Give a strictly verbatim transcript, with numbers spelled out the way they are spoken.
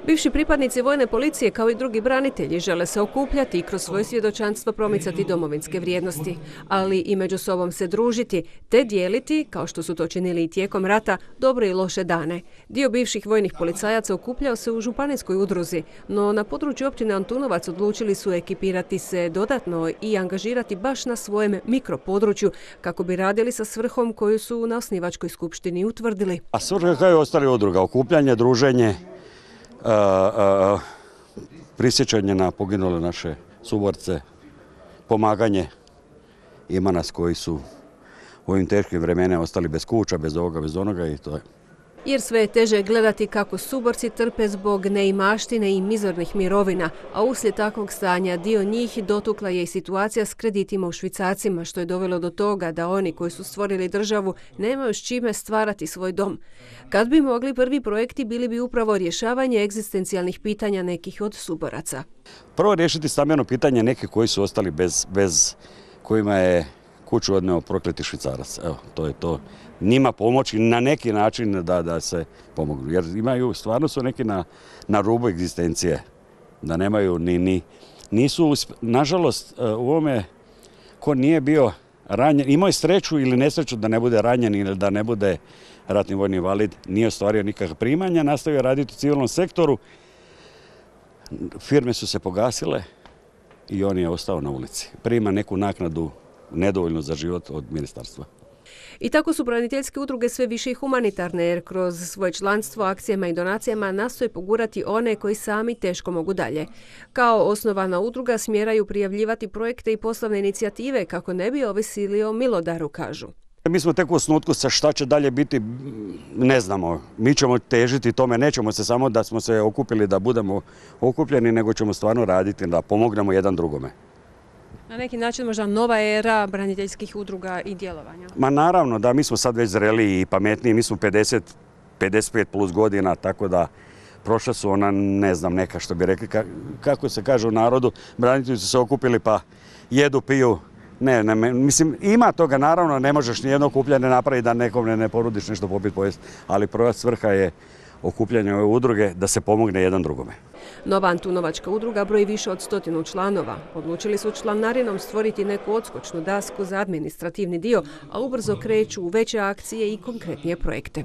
Bivši pripadnici vojne policije kao i drugi branitelji žele se okupljati i kroz svoje svjedočanstvo promicati domovinske vrijednosti, ali i među sobom se družiti te dijeliti, kao što su to činili i tijekom rata, dobre i loše dane. Dio bivših vojnih policajaca okupljao se u županijskoj udruzi, no na području općine Antunovac odlučili su ekipirati se dodatno i angažirati baš na svojem mikropodručju kako bi radili sa svrhom koju su na osnivačkoj skupštini utvrdili. A svrha kao i ostali udruga, okupljanje, druženje, Uh, uh, prisjećanje na poginule naše suborce, pomaganje. Ima nas koji su u ovim teškim vremenima ostali bez kuća, bez ovoga, bez onoga i to je. Jer sve je teže gledati kako suborci trpe zbog neimaštine i mizornih mirovina, a uslijed takvog stanja dio njih dotukla je i situacija s kreditima u švicarcima, što je dovelo do toga da oni koji su stvorili državu nemaju s čime stvarati svoj dom. Kad bi mogli, prvi projekti bili bi upravo rješavanje egzistencijalnih pitanja nekih od suboraca. Prvo riješiti stambeno pitanje nekih koji su ostali bez, bez kojima je kuću odneo prokleti švicarac. Evo, to je to. Njima pomoći na neki način da, da se pomognu. Jer imaju, stvarno su neki na, na rubu egzistencije. Da nemaju ni, ni, nisu, nažalost, u ovome ko nije bio ranjen, imao je sreću ili nesreću da ne bude ranjen ili da ne bude ratni vojni invalid, nije ostvario nikakva primanja, nastavio raditi u civilnom sektoru. Firme su se pogasile i on je ostao na ulici. Prima neku naknadu nedovoljno za život od ministarstva. I tako su braniteljske udruge sve više i humanitarne, jer kroz svoje članstvo, akcijama i donacijama nastoje pogurati one koji sami teško mogu dalje. Kao osnovana udruga smjeraju prijavljivati projekte i poslovne inicijative kako ne bi ovisili o milodaru, kažu. Mi smo tek u osnutku, sa šta će dalje biti, ne znamo. Mi ćemo težiti tome, nećemo se samo da smo se okupili da budemo okupljeni, nego ćemo stvarno raditi da pomognemo jedan drugome. Na neki način možda nova era braniteljskih udruga i djelovanja? Ma naravno da, mi smo sad već zreliji i pametniji, mi smo pedeset, pedeset pet plus godina, tako da prošla su ona, ne znam, neka što bi rekli, kako se kaže u narodu, branitelji su se okupili pa jedu, piju. Ne, ne, mislim, ima toga, naravno, ne možeš nijedno okupljanje napraviti da nekom ne, ne porudiš nešto popiti pojesti, ali prva svrha je okupljanje ove udruge da se pomogne jedan drugome. Nova Antunovačka udruga broji više od stotinu članova. Odlučili su članarinom stvoriti neku odskočnu dasku za administrativni dio, a ubrzo kreću u veće akcije i konkretnije projekte.